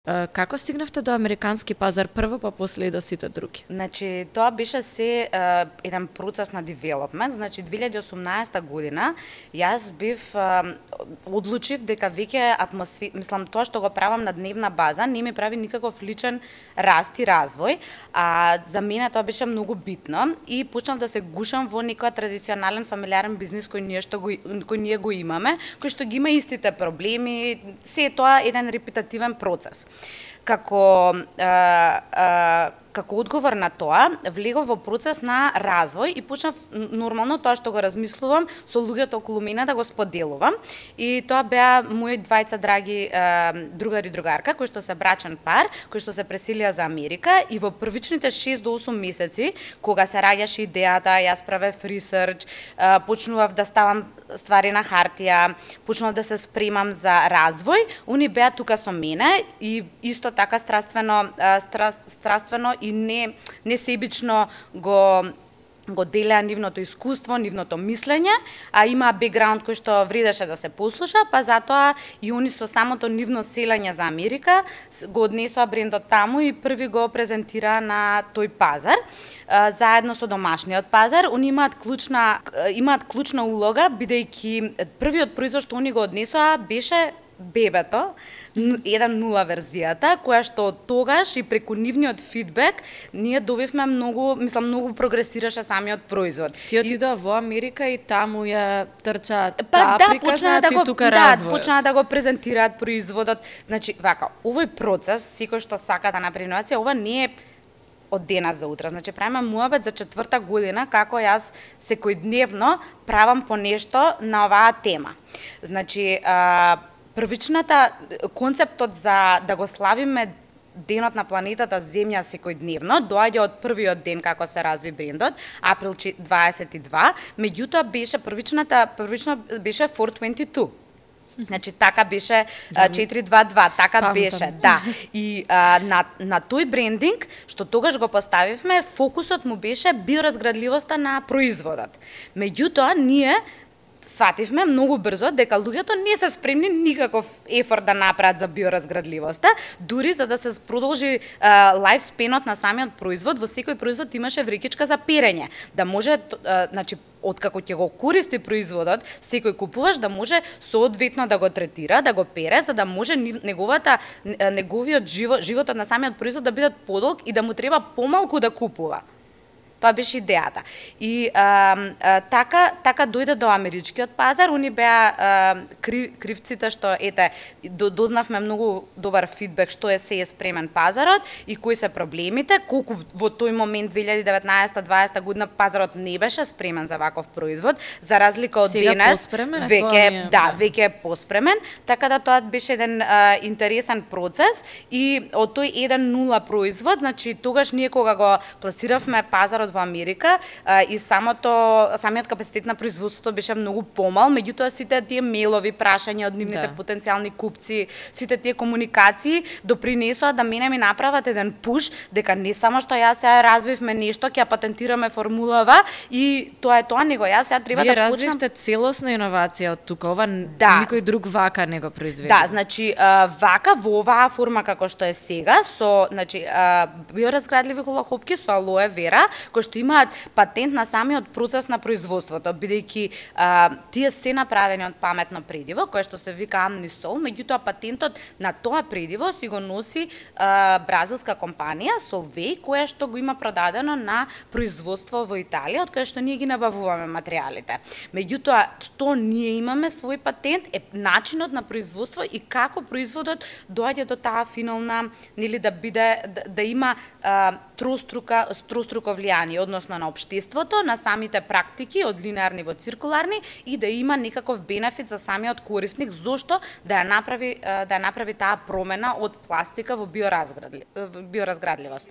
Како стигнавте до американски пазар прво, па после и до сите други? Значи, тоа беше се еден процес на девелопмент. Значи, 2018 година јас бив одлучив дека веќе мислам тоа што го правам на дневна база не ми прави никаков личен раст и развој, а за мене тоа беше многу битно и почнав да се гушам во некој традиционален фамилиарен бизнис кој ние го имаме, кој што ги има истите проблеми, се тоа еден репетативен процес. Како одговор на тоа, влегов во процес на развој и почнав нормално тоа што го размислувам со луѓето околу мене да го споделувам. И тоа беа мои двајца драги другар и другарка, кои што се брачен пар, кои што се преселија за Америка и во првичните 6 до 8 месеци, кога се раѓаше идејата, јас правев ресерч, почнував да ставам ствари на хартија, почнував да се спремам за развој, они беа тука со мене и исто така страствено и не себично го делеа нивното искуство, нивното мислење, а имаа бекграунд кој што вредеше да се послуша, па затоа и они со самото нивно селење за Америка го однесоа брендот таму и први го презентираа на тој пазар. Заедно со домашниот пазар, они имаат клучна улога, бидејќи првиот производ што они го однесоа беше бебето, 1.0 верзијата, која што од тогаш и преку нивниот фидбек ние добивме многу прогресираше самиот производ. Ти отидоа во Америка и таму ја трча таа приказна, ти тука развојот. Да, почнаа да го презентираат производот. Значи, вака, овој процес, секој што сака да направи иновација, ова не е од денес за утре. Значи, правиме муабет за 4-та година како јас секојдневно правам по нешто на оваа тема. Значи, првичната концептот за да го славиме денот на планетата Земја секојдневно доаѓа од првиот ден како се разви брендот, април 22, меѓутоа првично беше 422. Значи така беше 422, така беше, да. И на тој брендинг што тогаш го поставивме, фокусот му беше биоразградливоста на производот. Меѓутоа ние свативме многу брзо дека луѓето не се спремни никаков ефорт да направат за биоразградливоста, дури за да се продолжи лајфспенот на самиот производ, во секој производ имаше врекичка за перење, да може, значи, откако ќе го користи производот, секој купуваш да може соодветно да го третира, да го пере, за да може неговиот животот на самиот производ да биде подолг и да му треба помалку да купува. Тоа беше идејата. И така дојде до америчкиот пазар, они беа кривците што дознавме многу добар фидбек што се е спремен пазарот и кои се проблемите, колку во тој момент 2019-2020 година пазарот не беше спремен за ваков производ, за разлика од денес, веќе е поспремен, така да тоа беше еден интересен процес и од тој 1.0 производ, значи тогаш ние кога го пласиравме пазарот во Америка и самиот капацитет на производството беше многу помал, меѓутоа сите тие мејлови прашања од нивните потенцијални купци, сите тие комуникации допринесоа да мене ми направат еден пуш дека не само што јас сега развивме нешто, ќе патентираме формулава и тоа е тоа, него јас сега треба да почнам. Вие развивте целосна иновација од тука, ова никој друг вака не го произведе. Да, значи вака во оваа форма како што е сега со, значи, биоразградливи хулахопки со алоe вера, кои што имаат патент на самиот процес на производството, бидејќи тие се направени од паметно предиво, кое што се вика Amnisol, меѓутоа патентот на тоа предиво си го носи бразилска компанија Solvay, која што го има продадено на производство во Италија, од кое што ние ги набавуваме материјалите. Меѓутоа, што ние имаме свој патент е начинот на производство и како производот доаѓа до таа финална, нели да има троstruко влијание, односно на општеството, на самите практики од линеарни во циркуларни и да има некаков бенефит за самиот корисник, зошто да ја направи таа промена од пластика во биоразградливост.